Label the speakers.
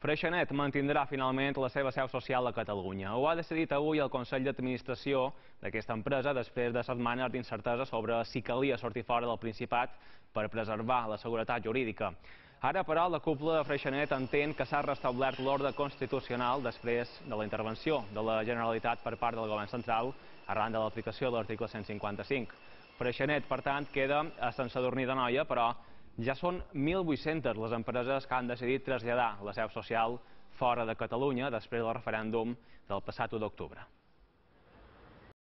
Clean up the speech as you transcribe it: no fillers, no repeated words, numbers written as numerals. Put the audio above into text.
Speaker 1: Freixenet mantindrà finalment la seva seu social a Catalunya. Ho ha decidit avui el Consell d'Administració d'aquesta empresa després de setmanes d'incertesa sobre si calia sortir fora del Principat per preservar la seguretat jurídica. Ara, però, la cúpula de Freixenet entén que s'ha restablert l'ordre constitucional després de la intervenció de la Generalitat per part del Govern central arran de l'aplicació de l'article 155. Freixenet, per tant, queda a Sant Sadurní d'Anoia, però ja són 1.800 les empreses que han decidit traslladar la seu social fora de Catalunya després del referèndum del passat 1 d'octubre.